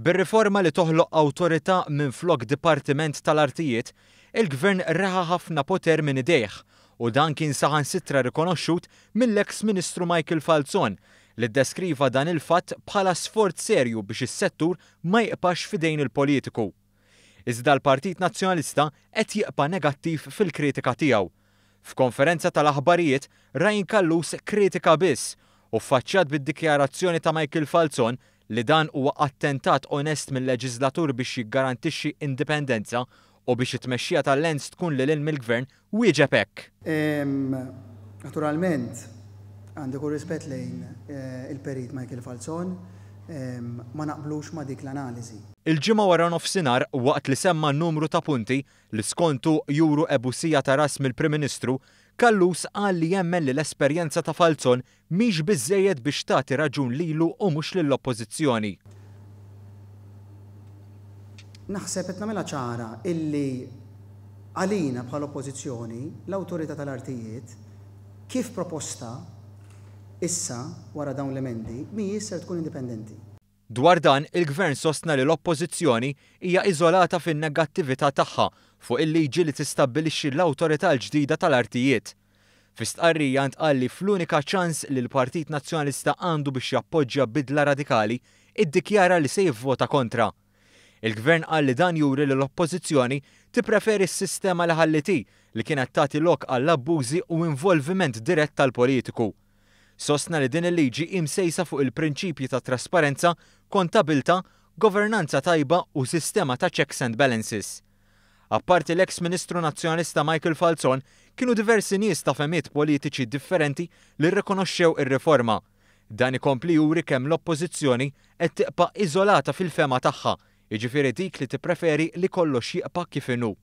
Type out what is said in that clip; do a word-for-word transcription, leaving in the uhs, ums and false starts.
Bir-riforma li toħloq awtorità minflok Dipartiment tal-Artijiet, il-Gvern reħa ħafna poter minn idejh u dan kien saħansitra rikonoxxut mill-eks Ministru Michael Falzon, li ddeskriva dan il-fatt bħala sforz serju biex is-settur ma jibqax f'idejn il-politiku. Iżda l-Partit Nazzjonalista qed jibqa' negattiv fil-kritika tiegħu. F'konferenza tal-aħbarijiet, Ryan Callus kritika biss u ffaċċjat bid-dikjarazzjoni ta' Michael Falzon li dan huwa attentat onest mill-leġislatur biex jiggarantixxi indipendenza u biex it-tmexxija tal-Lands tkun lil hinn mill-gvern, wieġeb hekk. Naturalment, għandi kull rispett lejn eh, il-perit Michael Falzon, ma naqblux ma' dik l-analiżi. Il-Ġimgħa wara nofsinhar, waqt li semma numru ta' punti li skontu juru ebusija ta' ras mill-Prim Ministru, Callus qal li jemmen li l-esperjenza ta' Falzon mhix biżejjed biex tagħti raġun lilu u mhux lill-Oppożizzjoni. Naħseb qed nagħmilha ċara illi għalina bħala Oppożizzjoni l-Awtorità tal-Artijiet kif proposta issa wara dawn l-emendi mhijiex ser tkun indipendenti. Dwar dan, il-Gvern sostna li l-Oppożizzjoni hija iżolata fin-negattività tagħha fuq il-liġi li tistabbilixxi l-Awtorità l-ġdida tal-Artijiet. Fi stqarrija ntqal li fl-unika ċans li l-Partit Nazzjonalista għandu biex jappoġġja bidla radikali, iddikjara li se jivvota kontra. Il-Gvern qal li dan juri li l-Oppożizzjoni tippreferi s-sistema li ħalliet hi, li kienet tagħti lok għall-abbużi u involviment dirett tal-politiku. Sostna li din il-liġi imsejsa fuq il-prinċipji ta' trasparenza, kontabilità, governanza tajba u sistema ta' checks and balances. Apparti l-eks Ministru Nazzjonalista Michael Falzon, kienu diversi nies ta' fehmiet politiċi differenti li rrikonoxxew ir-riforma. Dan ikompli juri kemm l-Oppożizzjoni qed tibqa' iżolata fil-fehma tagħha, jiġifieri dik li tippreferi li kollox jibqa' kif inhu.